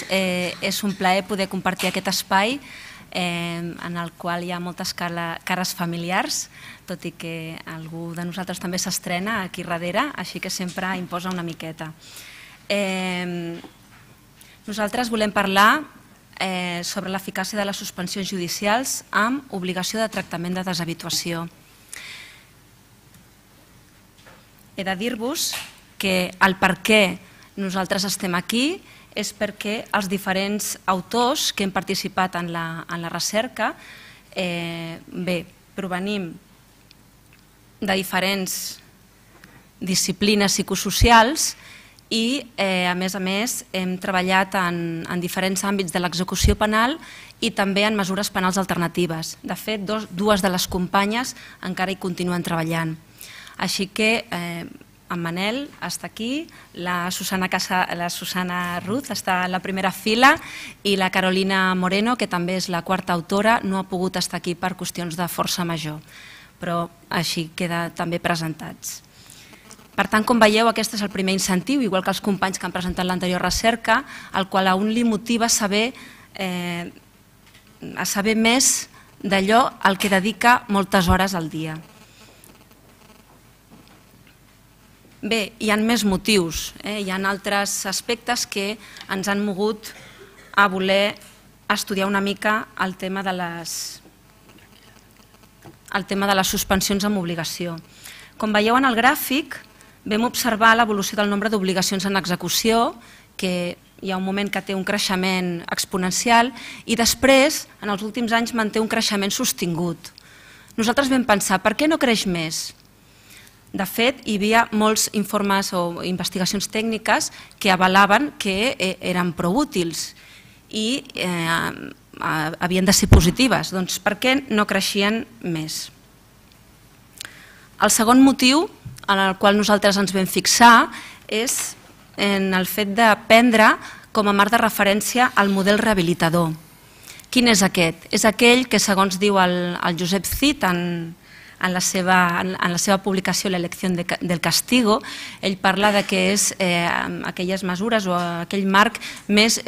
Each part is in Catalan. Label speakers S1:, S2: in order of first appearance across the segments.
S1: nosaltres és un plaer poder compartir aquest espai en el qual hi ha moltes cares familiars, tot i que algú de nosaltres també s'estrena aquí darrere, així que sempre imposa una miqueta. Nosaltres volem parlar sobre l'eficàcia de les suspensions judicials amb obligació de tractament de deshabituació. He de dir-vos que el per què nosaltres estem aquí és perquè els diferents autors que hem participat en la recerca provenim de diferents disciplines psicosocials i, a més, hem treballat en diferents àmbits de l'execució penal i també en mesures penals alternatives. De fet, dues de les companyes encara hi continuen treballant. Així que en Manel està aquí, la Susana Ruz està a la primera fila i la Carolina Moreno, que també és la quarta autora, no ha pogut estar aquí per qüestions de força major, però així queda també presentats. Per tant, com veieu, aquest és el primer incentiu, igual que els companys que han presentat l'anterior recerca, el qual a un li motiva a saber més d'allò al que dedica moltes hores al dia. Bé, hi ha més motius, hi ha altres aspectes que ens han mogut a voler estudiar una mica el tema de les suspensions amb obligació. Com veieu en el gràfic, vam observar l'evolució del nombre d'obligacions en execució, que hi ha un moment que té un creixement exponencial i després, en els últims anys, manté un creixement sostingut. Nosaltres vam pensar, per què no creix més? De fet, hi havia molts informes o investigacions tècniques que avalaven que eren prou útils i havien de ser positives. Doncs per què no creixien més? El segon motiu en el qual nosaltres ens vam fixar és en el fet de prendre com a marc de referència el model rehabilitador. Quin és aquest? És aquell que, segons diu el Josep Cid en la seva publicació L'elección del castigo, ell parla que és aquelles mesures o aquell marc més,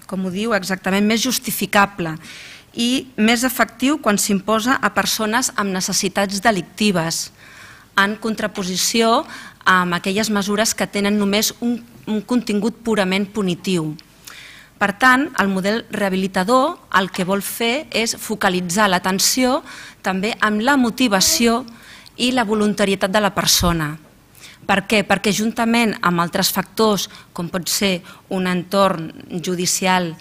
S1: com ho diu exactament, més justificable i més efectiu quan s'imposa a persones amb necessitats delictives, en contraposició amb aquelles mesures que tenen només un contingut purament punitiu. Per tant, el model rehabilitador el que vol fer és focalitzar l'atenció també amb la motivació i la voluntarietat de la persona. Per què? Perquè juntament amb altres factors, com pot ser un entorn judicial,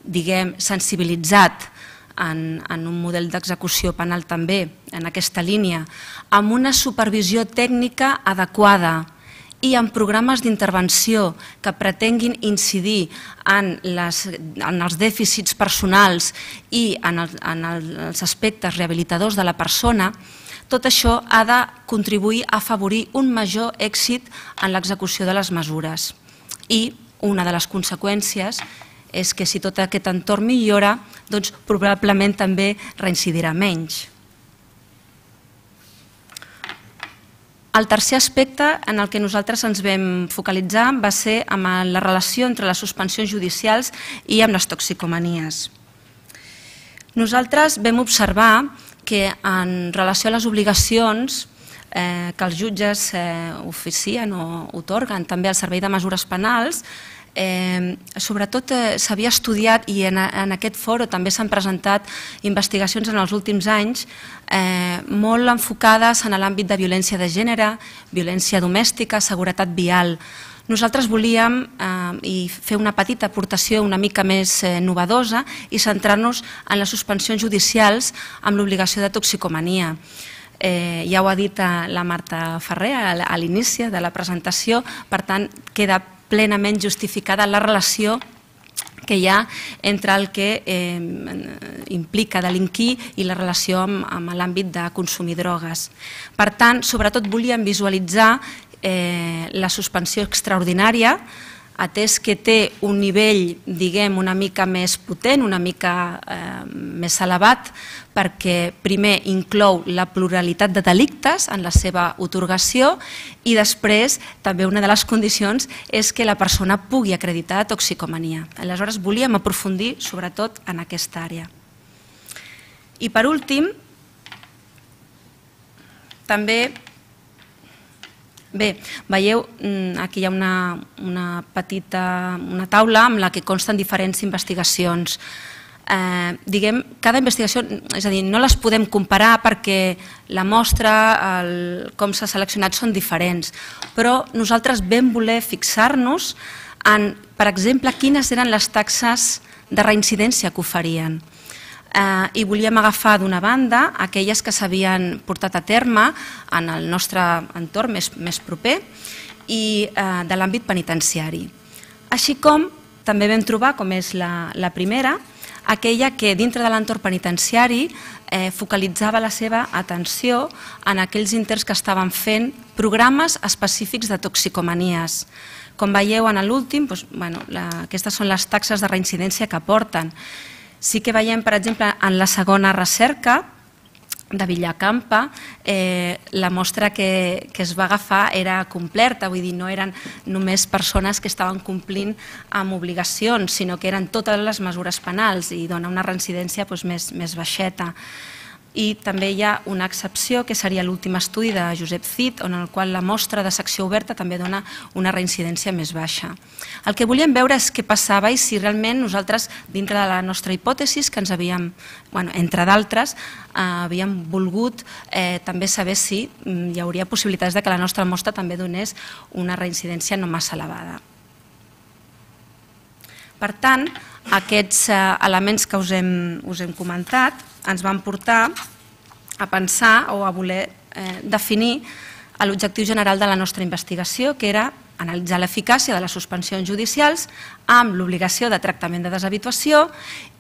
S1: diguem, sensibilitzat en un model d'execució penal també, en aquesta línia, amb una supervisió tècnica adequada, i en programes d'intervenció que pretenguin incidir en els dèficits personals i en els aspectes rehabilitadors de la persona, tot això ha de contribuir a afavorir un major èxit en l'execució de les mesures. I una de les conseqüències és que si tot aquest entorn millora, doncs probablement també reincidirà menys. El tercer aspecte en el que nosaltres ens vam focalitzar va ser amb la relació entre les suspensions judicials i amb les toxicomanies. Nosaltres vam observar que en relació a les obligacions que els jutges oficien o atorguen també al Servei de Mesures Penals, sobretot s'havia estudiat i en aquest fòrum també s'han presentat investigacions en els últims anys molt enfocades en l'àmbit de violència de gènere, violència domèstica, seguretat vial. Nosaltres volíem fer una petita aportació una mica més novedosa i centrar-nos en les suspensions judicials amb l'obligació de toxicomania. Ja ho ha dit la Marta Ferrer a l'inici de la presentació, per tant queda plenament justificada la relació que hi ha entre el que implica delinquir i la relació amb l'àmbit de consumir drogues. Per tant, sobretot volíem visualitzar la suspensió extraordinària atès que té un nivell, diguem, una mica més potent, una mica més elevat, perquè primer inclou la pluralitat de delictes en la seva atorgació i després també una de les condicions és que la persona pugui acreditar toxicomania. Aleshores volíem aprofundir sobretot en aquesta àrea. I per últim, també, bé, veieu, aquí hi ha una petita taula amb la que consten diferents investigacions. Diguem, cada investigació, és a dir, no les podem comparar perquè la mostra, com s'ha seleccionat, són diferents, però nosaltres vam voler fixar-nos en, per exemple, quines eren les taxes de reincidència que oferien. I volíem agafar d'una banda aquelles que s'havien portat a terme en el nostre entorn més proper i de l'àmbit penitenciari. Així com també vam trobar, com és la primera, aquella que dintre de l'entorn penitenciari focalitzava la seva atenció en aquells interns que estaven fent programes específics de toxicomanies. Com veieu en l'últim, aquestes són les taxes de reincidència que aporten. Sí que veiem, per exemple, en la segona recerca de Villacampa, la mostra que es va agafar era completa, vull dir, no eren només persones que estaven complint amb obligacions, sinó que eren totes les mesures penals i dona una reincidència més baixeta. I també hi ha una excepció, que seria l'últim estudi de Josep Cid, en el qual la mostra de secció oberta també dona una reincidència més baixa. El que volíem veure és què passava i si realment nosaltres, dintre de la nostra hipòtesi, que ens havíem, entre d'altres, havíem volgut també saber si hi hauria possibilitats que la nostra mostra també donés una reincidència no massa elevada. Per tant, aquests elements que us hem comentat ens van portar a pensar o a voler definir l'objectiu general de la nostra investigació, que era analitzar l'eficàcia de les suspensions judicials amb l'obligació de tractament de deshabituació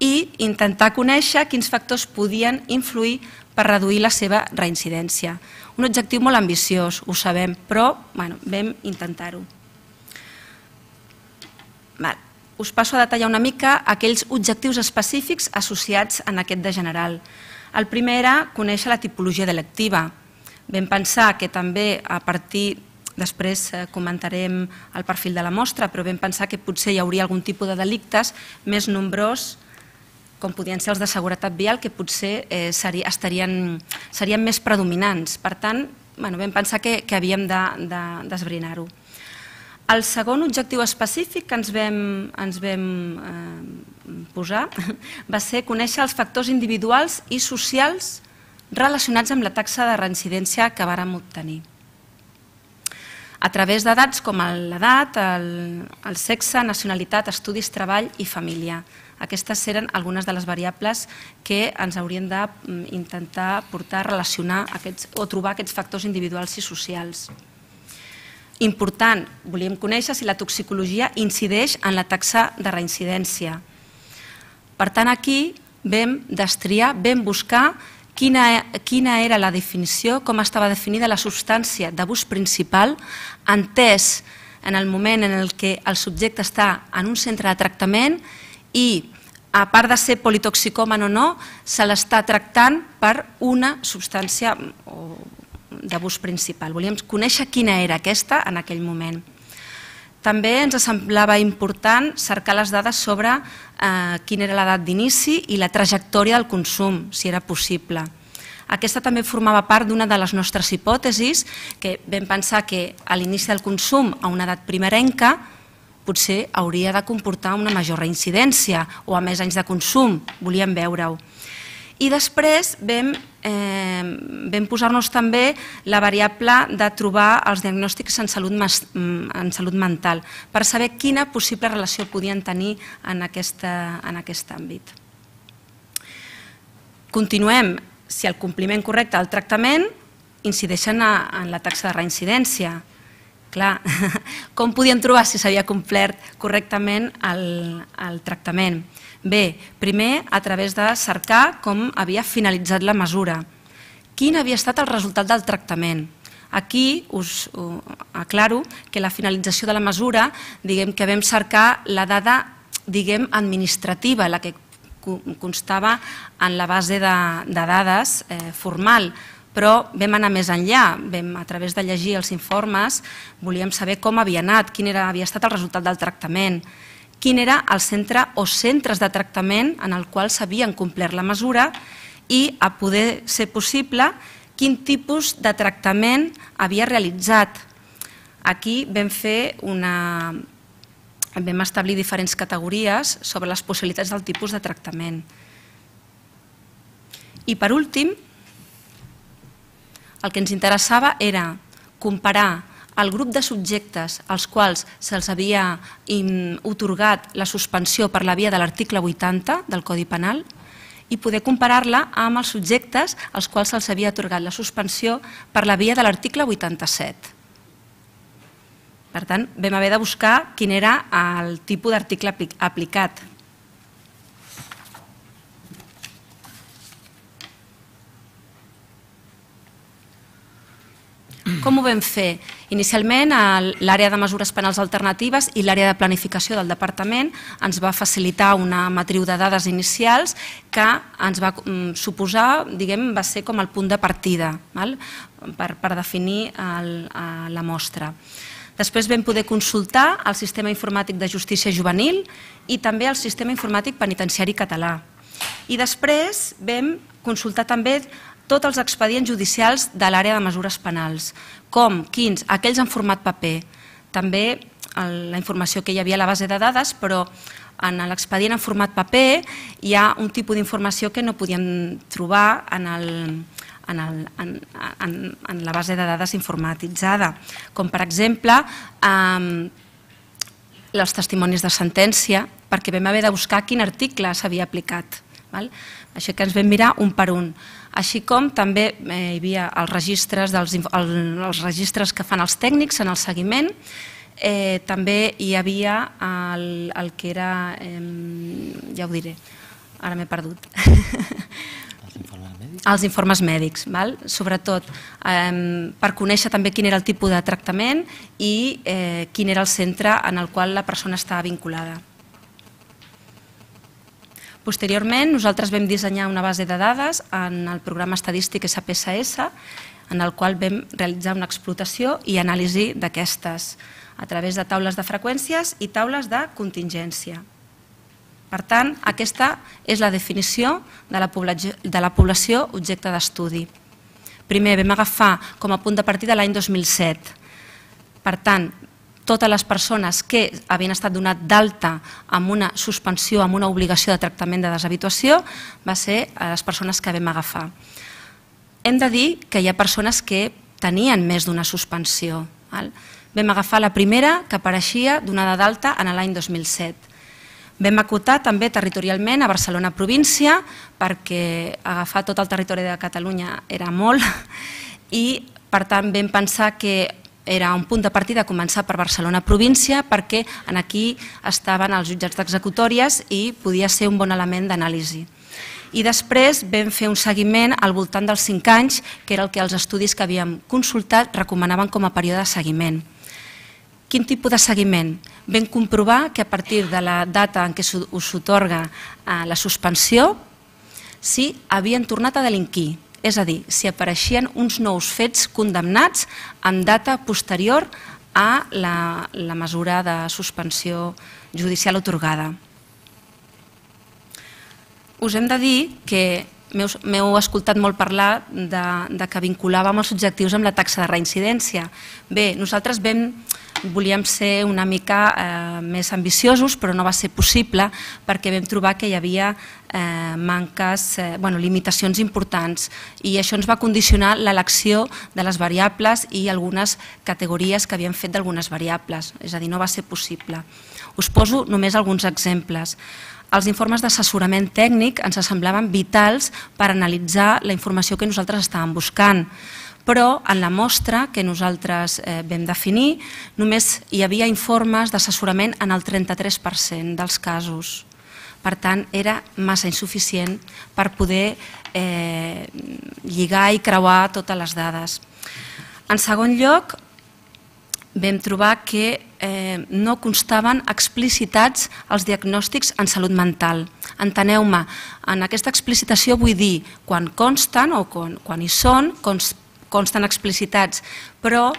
S1: i intentar conèixer quins factors podien influir per reduir la seva reincidència. Un objectiu molt ambiciós, ho sabem, però vam intentar-ho. Us passo a detallar una mica aquells objectius específics associats en aquest de general. El primer era conèixer la tipologia delictiva. Vam pensar que també a partir, després comentarem el perfil de la mostra, però vam pensar que potser hi hauria algun tipus de delictes més nombrós, com podien ser els de seguretat vial, que potser serien més predominants. Per tant, vam pensar que havíem d'esbrinar-ho. El segon objectiu específic que ens vam posar va ser conèixer els factors individuals i socials relacionats amb la taxa de reincidència que vàrem obtenir. A través de dats com l'edat, el sexe, nacionalitat, estudis, treball i família. Aquestes eren algunes de les variables que ens haurien d'intentar portar a relacionar o trobar aquests factors individuals i socials. Important, volíem conèixer si la toxicologia incideix en la taxa de reincidència. Per tant, aquí vam destriar, vam buscar quina era la definició, com estava definida la substància d'abús principal, entès en el moment en què el subjecte està en un centre de tractament i, a part de ser politoxicòman o no, se l'està tractant per una substància d'abús principal. Volíem conèixer quina era aquesta en aquell moment. També ens semblava important cercar les dades sobre quina era l'edat d'inici i la trajectòria del consum, si era possible. Aquesta també formava part d'una de les nostres hipòtesis, que vam pensar que a l'inici del consum a una edat primerenca potser hauria de comportar una major reincidència o a més anys de consum, volíem veure-ho. I després vam posar-nos també la variable de trobar els diagnòstics en salut mental per saber quina possible relació podien tenir en aquest àmbit. Continuem. Si el compliment correcte del tractament incideixen en la taxa de reincidència. Clar, com podíem trobar si s'havia complert correctament el tractament? Bé, primer a través de cercar com havia finalitzat la mesura. Quin havia estat el resultat del tractament? Aquí us aclaro que la finalització de la mesura, diguem que vam cercar la dada, diguem, administrativa, la que constava en la base de dades formal, però vam anar més enllà, a través de llegir els informes, volíem saber com havia anat, quin havia estat el resultat del tractament, quin era el centre o centres de tractament en el qual s'havien complert la mesura i, a poder ser possible, quin tipus de tractament havia realitzat. Aquí vam establir diferents categories sobre les possibilitats del tipus de tractament. I per últim, el que ens interessava era comparar el grup de subjectes als quals se'ls havia atorgat la suspensió per la via de l'article 80 del Codi Penal i poder comparar-la amb els subjectes als quals se'ls havia atorgat la suspensió per la via de l'article 87. Per tant, vam haver de buscar quin era el tipus d'article aplicat. Com ho vam fer? Inicialment, l'àrea de mesures penals alternatives i l'àrea de planificació del departament ens va facilitar una matriu de dades inicials que ens va suposar, diguem, va ser com el punt de partida per definir la mostra. Després vam poder consultar el Sistema Informàtic de Justícia Juvenil i també el Sistema Informàtic Penitenciari Català. I després vam consultar també tots els expedients judicials de l'àrea de mesures penals, com, quins, aquells en format paper, també la informació que hi havia a la base de dades, però en l'expedient en format paper hi ha un tipus d'informació que no podíem trobar en la base de dades informatitzada, com per exemple els testimonis de sentència, perquè vam haver de buscar quin article s'havia aplicat. Així que ens vam mirar un per un. Així com també hi havia els registres que fan els tècnics en el seguiment, també hi havia el que era, ja ho diré, ara m'he perdut, els informes mèdics, sobretot per conèixer també quin era el tipus de tractament i quin era el centre en el qual la persona estava vinculada. Posteriorment, nosaltres vam dissenyar una base de dades en el programa estadístic SPSS, en el qual vam realitzar una explotació i anàlisi d'aquestes a través de taules de freqüències i taules de contingència. Per tant, aquesta és la definició de la població objecte d'estudi. Primer, vam agafar com a punt de partida l'any 2007. Per tant, totes les persones que havien estat donat d'alta amb una suspensió, amb una obligació de tractament de deshabituació, va ser les persones que vam agafar. Hem de dir que hi ha persones que tenien més d'una suspensió. Vam agafar la primera que apareixia donada d'alta en l'any 2007. Vam acotar també territorialment a Barcelona província, perquè agafar tot el territori de Catalunya era molt i, per tant, vam pensar que era un punt de partida començar per Barcelona província perquè aquí estaven els jutjats d'executòries i podia ser un bon element d'anàlisi. I després vam fer un seguiment al voltant dels 5 anys, que era el que els estudis que havíem consultat recomanaven com a període de seguiment. Quin tipus de seguiment? Vam comprovar que a partir de la data en què s'atorga la suspensió, si havien tornat a delinquir. És a dir, si apareixien uns nous fets condemnats en data posterior a la mesura de suspensió judicial atorgada. Us hem de dir que m'heu escoltat molt parlar de que vinculàvem els objectius amb la taxa de reincidència. Bé, nosaltres volíem ser una mica més ambiciosos, però no va ser possible perquè vam trobar que hi havia limitacions importants i això ens va condicionar l'elecció de les variables i algunes categories que havíem fet d'algunes variables, és a dir, no va ser possible. Us poso només alguns exemples. Els informes d'assessorament tècnic ens semblaven vitals per analitzar la informació que nosaltres estàvem buscant, però en la mostra que nosaltres vam definir només hi havia informes d'assessorament en el 33% dels casos. Per tant, era massa insuficient per poder lligar i creuar totes les dades. En segon lloc, vam trobar que no constaven explicitats els diagnòstics en salut mental. Enteneu-me, en aquesta explicitació vull dir quan consten o quan hi són, consten explicitats, però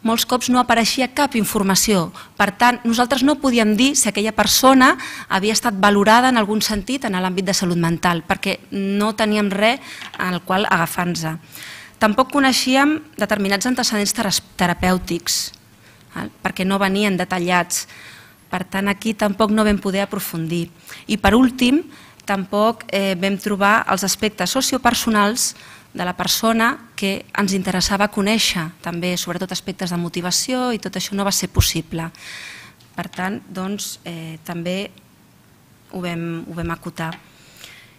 S1: molts cops no apareixia cap informació. Per tant, nosaltres no podíem dir si aquella persona havia estat valorada en algun sentit en l'àmbit de salut mental, perquè no teníem res en el qual agafar-nos. Tampoc coneixíem determinats antecedents terapèutics, perquè no venien detallats. Per tant, aquí tampoc no vam poder aprofundir. I per últim, tampoc vam trobar els aspectes sociopersonals de la persona que ens interessava conèixer, també sobretot aspectes de motivació, i tot això no va ser possible. Per tant, doncs, també ho vam acotar.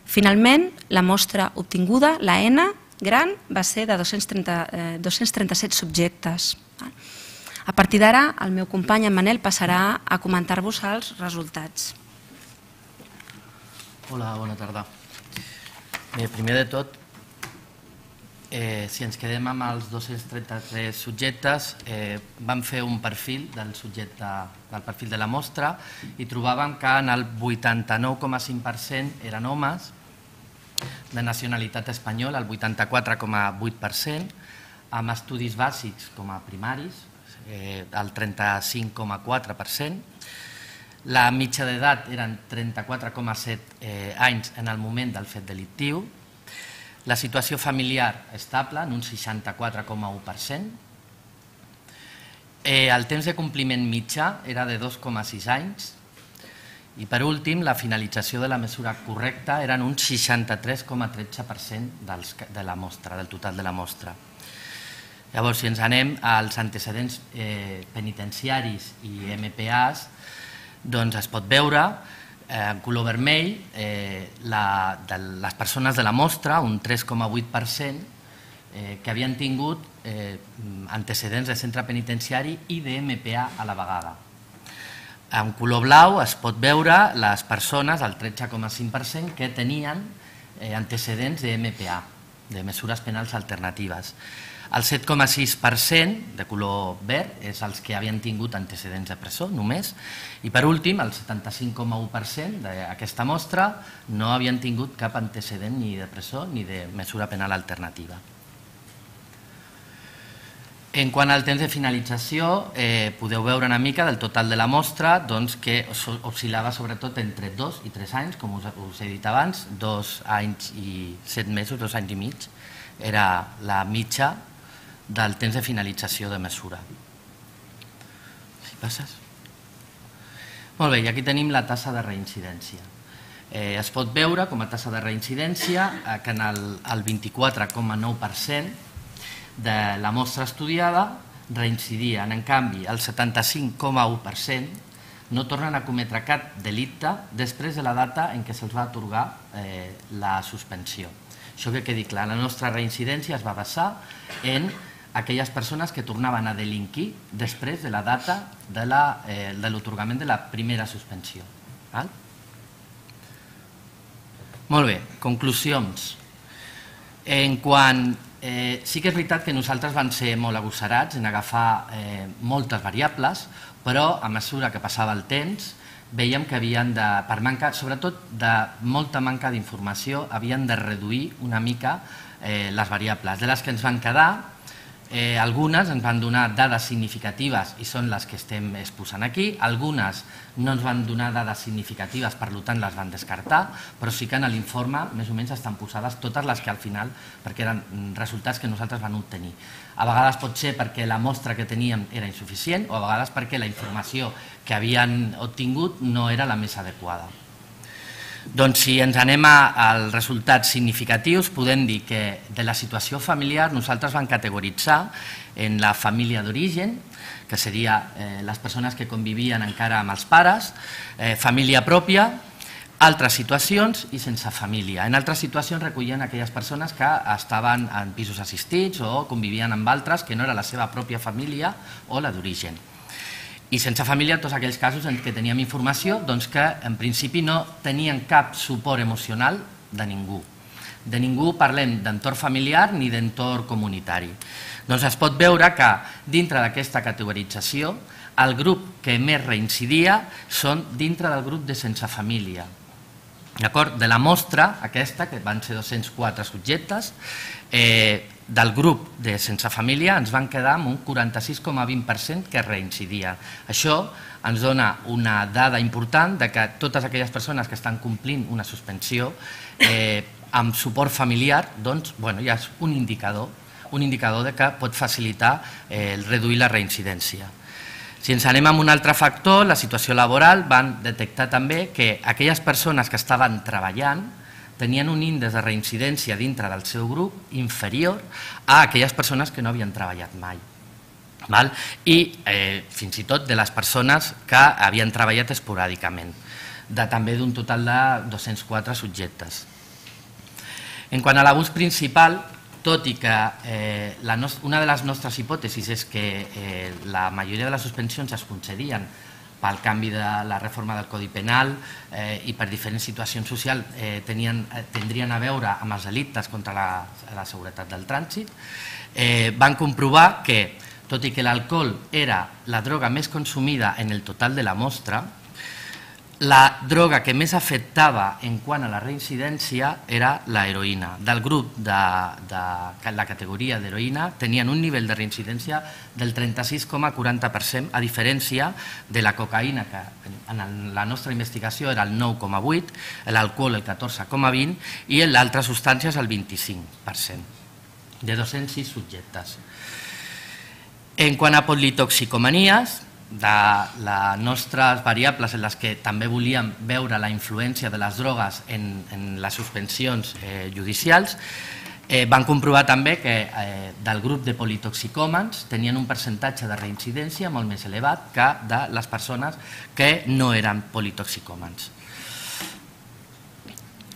S1: Finalment, la mostra obtinguda, la N gran, va ser de 237 subjectes. A partir d'ara, el meu company, en Manel, passarà a comentar-vos els resultats.
S2: Hola, bona tarda. Bé, primer de tot, si ens quedem amb els 233 subjectes, vam fer un perfil del perfil de la mostra i trobàvem que en el 89,5% eren homes, de nacionalitat espanyola el 84,8%, amb estudis bàsics com a primaris, el 35,4%, la mitja d'edat eren 34,7 anys en el moment del fet delictiu, la situació familiar estable en un 64,1%, el temps de compliment mitjà era de 2,6 anys i per últim la finalització de la mesura correcta eren un 63,13% de la mostra, del total de la mostra. Llavors, si ens anem als antecedents penitenciaris i MPAs, doncs es pot veure en color vermell de les persones de la mostra, un 3,8%, que havien tingut antecedents de centre penitenciari i de MPA a la vegada. En color blau es pot veure les persones, el 13,5%, que tenien antecedents de MPA, de mesures penals alternatives. El 7,6% de color verd és els que havien tingut antecedents de presó només i per últim el 75,1% d'aquesta mostra no havien tingut cap antecedent ni de presó ni de mesura penal alternativa. En quant al temps de finalització, podeu veure una mica del total de la mostra que oscil·lava sobretot entre 2 i 3 anys, com us he dit abans, 2 anys i 7 mesos, 2 anys i mig, era la mitja del temps de finalització de mesura. Si passes. Molt bé, i aquí tenim la tassa de reincidència. Es pot veure com a tassa de reincidència que en el 24,9% de la mostra estudiada reincidien. En canvi, el 75,1% no tornen a cometre cap delicte després de la data en què se'ls va atorgar la suspensió. Això que quedi clar, la nostra reincidència es va basar en aquelles persones que tornaven a delinquir després de la data de l'atorgament de la primera suspensió. Molt bé, conclusions. Sí que és veritat que nosaltres vam ser molt agosarats en agafar moltes variables, però a mesura que passava el temps veiem que havien de, per manca, sobretot de molta manca d'informació, havien de reduir una mica les variables. De les que ens van quedar, algunes ens van donar dades significatives i són les que estem exposant aquí, algunes no ens van donar dades significatives, per tant les van descartar, però sí que en l'informe més o menys estan posades totes les que al final, perquè eren resultats que nosaltres vam obtenir. A vegades pot ser perquè la mostra que teníem era insuficient o a vegades perquè la informació que havien obtingut no era la més adequada. Doncs si ens anem als resultats significatius, podem dir que de la situació familiar nosaltres vam categoritzar en la família d'origen, que seria les persones que convivien encara amb els pares, família pròpia, altres situacions i sense família. En altres situacions recollien aquelles persones que estaven en pisos assistits o convivien amb altres que no era la seva pròpia família o la d'origen. I sense família, tots aquells casos en què teníem informació que en principi no tenien cap suport emocional de ningú. De ningú parlem d'entorn familiar ni d'entorn comunitari. Doncs es pot veure que dintre d'aquesta categorització el grup que més reincidia són dintre del grup de sense família. De la mostra aquesta, que van ser 204 subjectes, del grup de sense família ens van quedar amb un 46,20% que reincidia. Això ens dona una dada important de que totes aquelles persones que estan complint una suspensió amb suport familiar, doncs, ja és un indicador de que pot facilitar reduir la reincidència. Si ens anem a un altre factor, la situació laboral, van detectar també que aquelles persones que estaven treballant tenien un índex de reincidència dintre del seu grup inferior a aquelles persones que no havien treballat mai. I fins i tot de les persones que havien treballat esporàdicament, també d'un total de 204 subjectes. En quant a l'abús principal, tot i que una de les nostres hipòtesis és que la majoria de les suspensions es concedien pel canvi de la reforma del Codi Penal i per diferents situacions socials tindrien a veure amb els delictes contra la seguretat del trànsit, van comprovar que, tot i que l'alcohol era la droga més consumida en el total de la mostra, la droga que més afectava en quant a la reincidència era l'heroïna. Del grup de la categoria d'heroïna tenien un nivell de reincidència del 36,40%, a diferència de la cocaïna, que en la nostra investigació era el 9,8%, l'alcohol el 14,20% i l'altra substància és el 25%, de 206 subjectes. En quant a politoxicomanies, de les nostres variables en les que també volíem veure la influència de les drogues en les suspensions judicials, van comprovar també que del grup de politoxicòmans tenien un percentatge de reincidència molt més elevat que de les persones que no eren politoxicòmans.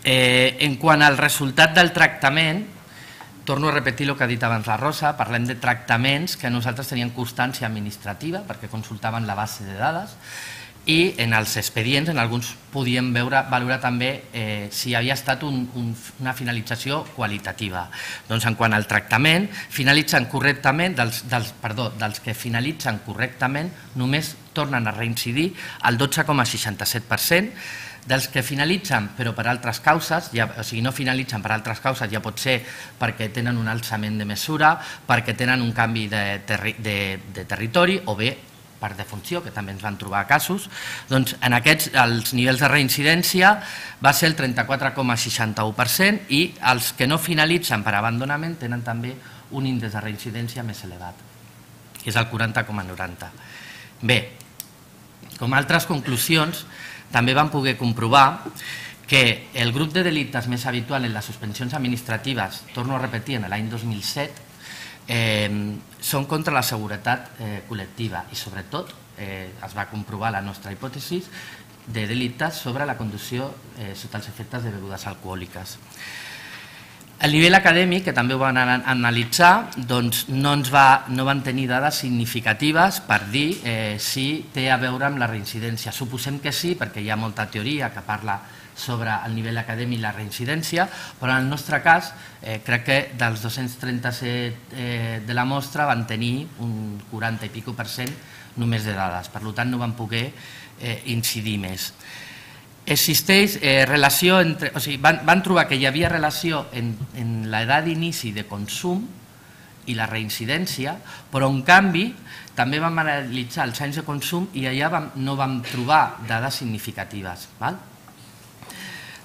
S2: En quant al resultat del tractament, torno a repetir el que ha dit abans la Rosa, parlem de tractaments que nosaltres teníem constància administrativa perquè consultaven la base de dades i en els expedients en alguns podíem valorar també si havia estat una finalització qualitativa. Doncs en quant al tractament, finalitzen correctament, dels que finalitzen correctament només tornen a reincidir el 12,67%, dels que finalitzen però per altres causes, o sigui, no finalitzen per altres causes, ja pot ser perquè tenen un alçament de mesura, perquè tenen un canvi de territori o bé per defunció, que també ens van trobar casos, doncs en aquests els nivells de reincidència va ser el 34,61% i els que no finalitzen per abandonament tenen també un índex de reincidència més elevat, que és el 40,90%. Bé, com a altres conclusions, també vam poder comprovar que el grup de delictes més habitual en les suspensions administratives, torno a repetir, en l'any 2007, són contra la seguretat col·lectiva i sobretot es va comprovar la nostra hipòtesi de delictes sobre la conducció sota els efectes de begudes alcohòliques. A nivell acadèmic, que també ho van analitzar, doncs no van tenir dades significatives per dir si té a veure amb la reincidència. Suposem que sí, perquè hi ha molta teoria que parla sobre el nivell acadèmic i la reincidència, però en el nostre cas crec que dels 237 de la mostra van tenir un 40 i pico % només de dades, per tant no van poder incidir més. Existeix relació entre... O sigui, van trobar que hi havia relació en l'edat d'inici de consum i la reincidència, però en canvi també vam analitzar els anys de consum i allà no vam trobar dades significatives.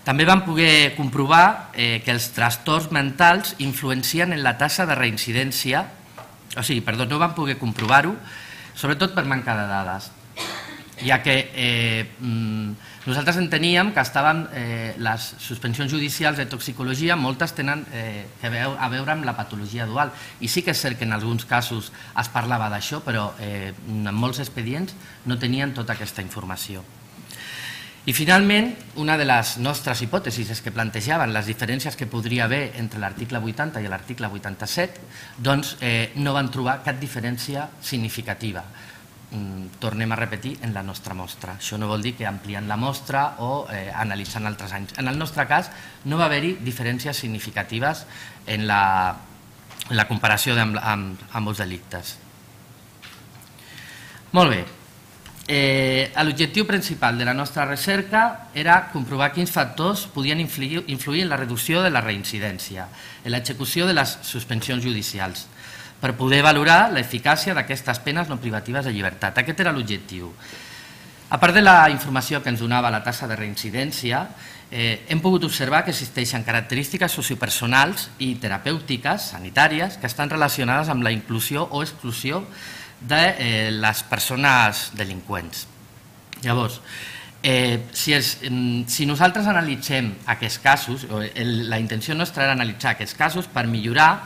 S2: També vam poder comprovar que els trastorns mentals influencien en la taxa de reincidència, o sigui, perdó, no vam poder comprovar-ho, sobretot per manca de dades, ja que nosaltres enteníem que les suspensions judicials de toxicologia, moltes tenen a veure amb la patologia dual, i sí que és cert que en alguns casos es parlava d'això, però en molts expedients no tenien tota aquesta informació. I finalment, una de les nostres hipòtesis és que plantejaven les diferències que podria haver entre l'article 80 i l'article 87, doncs no van trobar cap diferència significativa. tornem a repetir en la nostra mostra. Això no vol dir que ampliant la mostra o analitzant altres anys. En el nostre cas no va haver-hi diferències significatives en la comparació amb els delictes. Molt bé. L'objectiu principal de la nostra recerca era comprovar quins factors podien influir en la reducció de la reincidència, en l'execució de les suspensions judicials, per poder valorar l'eficàcia d'aquestes penes no privatives de llibertat. Aquest era l'objectiu. A part de la informació que ens donava la taxa de reincidència, hem pogut observar que existeixen característiques sociopersonals i terapèutiques, sanitàries, que estan relacionades amb la inclusió o exclusió de les persones delinqüents. Llavors, si nosaltres analitzem aquests casos, la intenció nostra era analitzar aquests casos per millorar,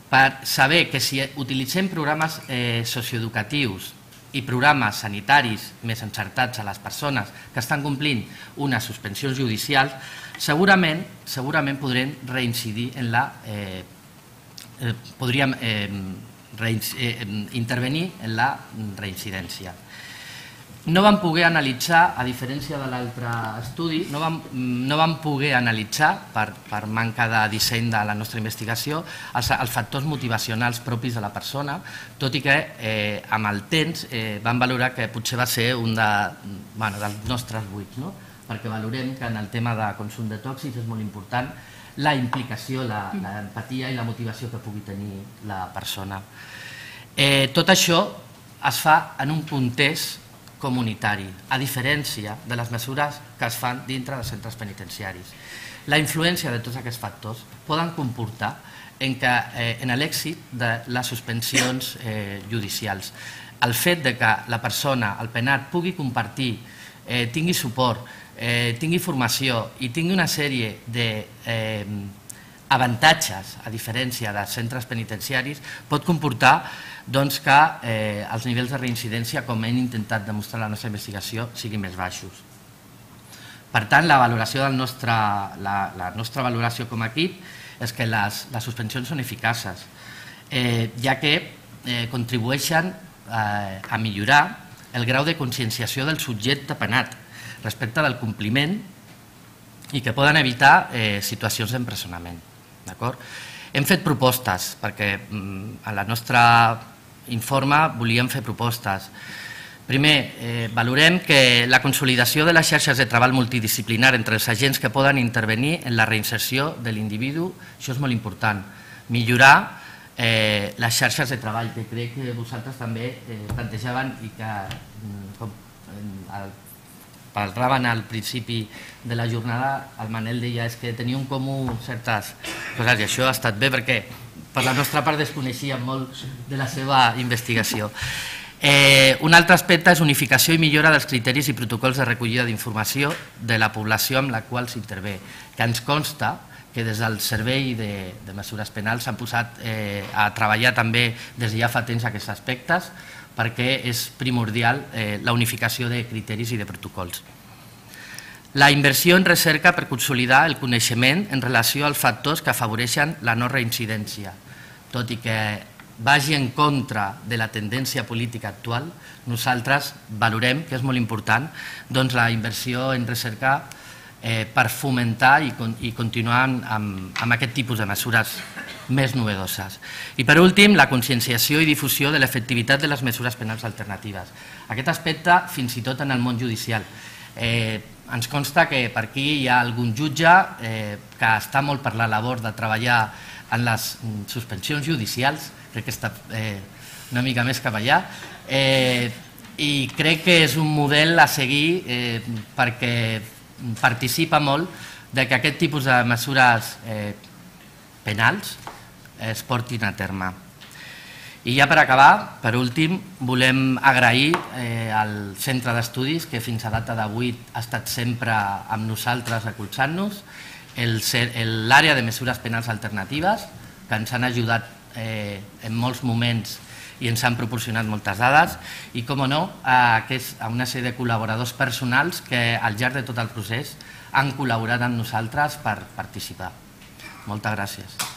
S2: per saber que si utilitzem programes socioeducatius i programes sanitaris més encertats a les persones que estan complint unes suspensions judicials, segurament podrem reincidir en la... podríem intervenir en la reincidència. No vam poder analitzar, a diferència de l'altre estudi, no vam poder analitzar, per manca de disseny de la nostra investigació, els factors motivacionals propis de la persona, tot i que amb el temps vam valorar que potser va ser un dels nostres buits, perquè valorem que en el tema de consum de tòxics és molt important la implicació, l'empatia i la motivació que pugui tenir la persona. Tot això es fa en un context comunitari, a diferència de les mesures que es fan dintre dels centres penitenciaris. La influència de tots aquests factors poden comportar en l'èxit de les suspensions judicials. El fet que la persona, el penat, pugui compartir, tingui suport, tingui formació i tingui una sèrie d'avantatges, a diferència dels centres penitenciaris, pot comportar que els nivells de reincidència, com hem intentat demostrar en la nostra investigació, siguin més baixos. Per tant, la nostra valoració com a equip és que les suspensions són eficaces, ja que contribueixen a millorar el grau de conscienciació del subjecte penat respecte del compliment i que poden evitar situacions d'empresonament. Hem fet propostes, perquè en el nostre informe volíem fer propostes. Primer, valorem que la consolidació de les xarxes de treball multidisciplinar entre els agents que poden intervenir en la reinserció de l'individu, això és molt important. Millorar les xarxes de treball, que crec que vosaltres també plantejaven i que parlaven al principi de la jornada, el Manel deia que tenia en comú certes coses i això ha estat bé perquè per la nostra part desconeixíem molt de la seva investigació. Un altre aspecte és unificació i millora dels criteris i protocols de recollida d'informació de la població amb la qual s'intervé, que ens consta que des del Servei de Mesures Penals s'han posat a treballar també des de ja fa temps aquests aspectes, perquè és primordial la unificació de criteris i de protocols. La inversió en recerca per consolidar el coneixement en relació als factors que afavoreixen la no reincidència. Tot i que vagi en contra de la tendència política actual, nosaltres valorem que és molt important la inversió en recerca per fomentar i continuar amb aquest tipus de mesures més novedoses. I per últim, la conscienciació i difusió de l'efectivitat de les mesures penals alternatives. Aquest aspecte, fins i tot en el món judicial. Ens consta que per aquí hi ha algun jutge que està molt per la labor de treballar en les suspensions judicials, crec que està una mica més cap allà, i crec que és un model a seguir perquè participa molt que aquest tipus de mesures penals es portin a terme. I ja per acabar, per últim, volem agrair al Centre d'Estudis, que fins a data d'avui ha estat sempre amb nosaltres recolzant-nos, l'àrea de mesures penals alternatives, que ens han ajudat en molts moments i ens han proporcionat moltes dades, i, com no, a una sèrie de col·laboradors personals que al llarg de tot el procés han col·laborat amb nosaltres per participar. Moltes gràcies.